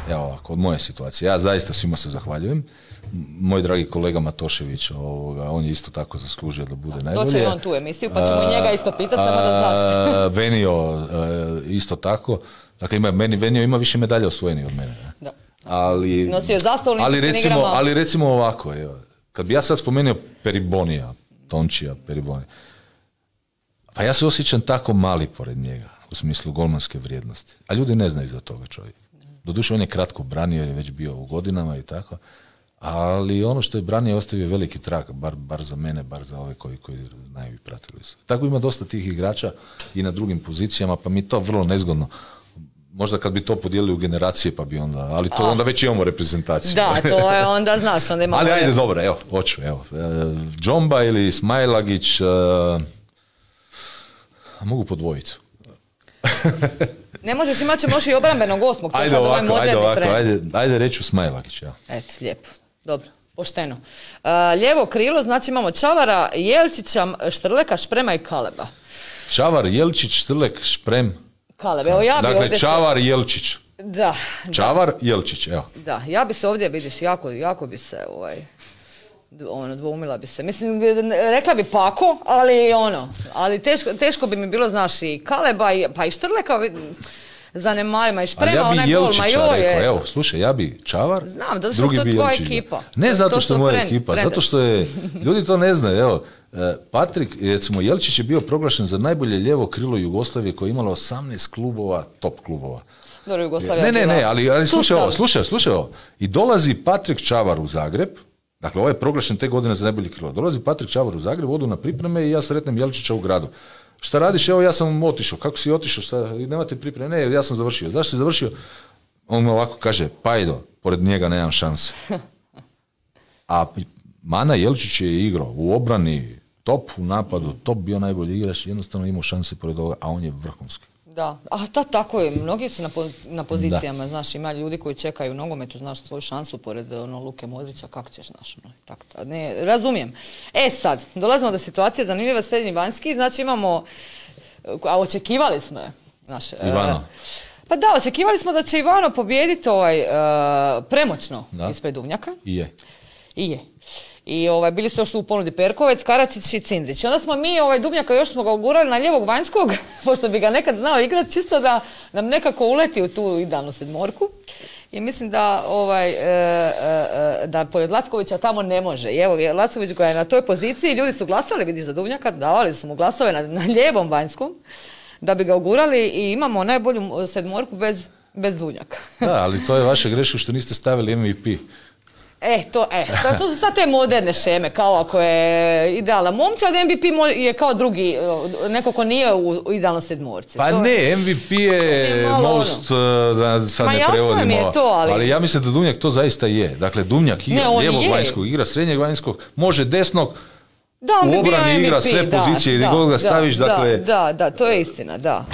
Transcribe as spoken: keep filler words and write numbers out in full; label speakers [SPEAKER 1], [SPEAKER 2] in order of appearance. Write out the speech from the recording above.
[SPEAKER 1] Evo ovako, od moje situacije. Ja zaista svima se zahvaljujem. Moj dragi kolega Matošević, ovoga, on je isto tako zaslužio da bude najbolje.
[SPEAKER 2] Doće i on tu emisiju, pa ćemo i njega isto pitati, samo da znaš.
[SPEAKER 1] Venio isto tako. Dakle, ima, meni, Venio ima više medalja osvojenih od mene. Ne?
[SPEAKER 2] Da.
[SPEAKER 1] Ali,
[SPEAKER 2] nosio zastavu
[SPEAKER 1] ali, recimo, ali recimo ovako, evo, kad bi ja sad spomenuo Peribonija, Tončija, Peribonija, pa ja se osjećam tako mali pored njega, u smislu golmanske vrijednosti. A ljudi ne znaju za toga čovjeka. Doduše, on je kratko branio, jer je već bio u godinama i tako, ali ono što je branio ostavio veliki trag, bar, bar za mene, bar za ove koji, koji znaju i pratili su. Tako ima dosta tih igrača i na drugim pozicijama, pa mi to vrlo nezgodno. Možda kad bi to podijelili u generacije, pa bi onda, ali to onda već imamo reprezentaciju.
[SPEAKER 2] Da, to je onda, znaš, onda imamo...
[SPEAKER 1] Ali ajde, dobro, evo, hoću, evo. Džomba ili Smajlagić, uh, mogu po dvojicu.
[SPEAKER 2] Ne možeš, imat će možda i obrambenog osmog.
[SPEAKER 1] Ajde ovako, ajde ovako, ajde, ajde reću Smajlagić, ja.
[SPEAKER 2] Eto, lijepo, dobro, pošteno. Uh, lijevo krilo, znači imamo Čavara, Jelčića, Štrleka, Šprema i Kaleba.
[SPEAKER 1] Čavar, Jelčić, Štrlek, Šprem...
[SPEAKER 2] Kaleb, evo ja bi
[SPEAKER 1] dakle,
[SPEAKER 2] ovdje...
[SPEAKER 1] Čavar, se... Jelčić.
[SPEAKER 2] Da.
[SPEAKER 1] Čavar,
[SPEAKER 2] da.
[SPEAKER 1] Jelčić, evo.
[SPEAKER 2] Da, ja bi se ovdje, vidiš, jako, jako bi se, ovaj, ono, dvoumila bi se. Mislim, rekla bi Pako, ali ono, ali teško, teško bi mi bilo, znaš, i Kaleba, i, pa i Štrleka, zanemarima i Šprema,
[SPEAKER 1] ja
[SPEAKER 2] onaj gol, ma joj je...
[SPEAKER 1] Evo, slušaj, ja bi Čavar,
[SPEAKER 2] znam, zato što
[SPEAKER 1] drugi
[SPEAKER 2] to
[SPEAKER 1] bi
[SPEAKER 2] tvoja
[SPEAKER 1] Jelčić.
[SPEAKER 2] ekipa.
[SPEAKER 1] Ne zato
[SPEAKER 2] to
[SPEAKER 1] što je moja
[SPEAKER 2] pren,
[SPEAKER 1] ekipa,
[SPEAKER 2] prendeš.
[SPEAKER 1] zato što je, ljudi to ne znaju, evo, Patrik, recimo, Jelčić je bio proglašen za najbolje lijevo krilo Jugoslavije koje je imalo osamnaest klubova, top klubova.
[SPEAKER 2] Dobro, Jugoslavija
[SPEAKER 1] ne, ne, ne, ali, ali slušaj ovo, slušaj, slušaj ovo. I dolazi Patrik Čavar u Zagreb, dakle, ovo je proglašen te godine za najbolje krilo. Dolazi Patrik Čavar u Zagreb, odu na pripreme i ja sretnem Jelčića u gradu. Šta radiš? Evo, ja sam otišao. Kako si otišao? Šta? Nemate pripreme? Ne, ja sam završio. Zašto si završio? On me ovako kaže, Pajdo, pored njega nemam šanse. A Mana Jelčić je igrao u obrani, top u napadu, top bio najbolji igrač, jednostavno imao šanse pored ovoga, a on je vrhunski.
[SPEAKER 2] Da, a ta, tako je, mnogi su na, po, na pozicijama, da. Znaš, ima ljudi koji čekaju u nogometu, znaš, svoju šansu pored ono, Luke Modrića, kako ćeš, znaš, ono, tako, ne, razumijem. E sad, dolazimo do situacije zanimljiva, srednji vanjski, znači imamo, a očekivali smo je, znaš.
[SPEAKER 1] Ivano.
[SPEAKER 2] E, pa da, očekivali smo da će Ivano pobijediti ovaj, e, premoćno da. Ispred Duvnjaka.
[SPEAKER 1] I je.
[SPEAKER 2] I je. I ovaj, bili su još tu u ponudi Perkovec, Karačić i Cindrić. I onda smo mi ovaj, Duvnjaka još smo ga ugurali na lijevog vanjskog, pošto bi ga nekad znao igrati, čisto da nam nekako uleti u tu idealnu sedmorku. I mislim da, ovaj, e, e, da pored Lackovića tamo ne može. I evo, Lacković koja je na toj poziciji, ljudi su glasali, vidiš, za Duvnjaka, davali su mu glasove na, na lijevom vanjskom, da bi ga ugurali i imamo najbolju sedmorku bez, bez Duvnjaka.
[SPEAKER 1] Da, ali to je vaša greška što niste stavili M V P.
[SPEAKER 2] E, to, e, to, to su sad te moderne šeme, kao ako je idealna momčad, M V P je kao drugi, neko ko nije u idealnoj sedmorci.
[SPEAKER 1] Pa
[SPEAKER 2] to,
[SPEAKER 1] ne, M V P je, je most, ono. Da sad
[SPEAKER 2] Ma
[SPEAKER 1] ne prevodimo,
[SPEAKER 2] je to, ali...
[SPEAKER 1] ali ja mislim da Duvnjak to zaista je. Dakle, Duvnjak igra ne, lijevog je. Vanjskog, igra srednjeg vanjskog, može desnog,
[SPEAKER 2] da,
[SPEAKER 1] u obrani igra sve
[SPEAKER 2] da,
[SPEAKER 1] pozicije,
[SPEAKER 2] da,
[SPEAKER 1] gdje god ga staviš,
[SPEAKER 2] da,
[SPEAKER 1] dakle...
[SPEAKER 2] Da, da, to je istina, da.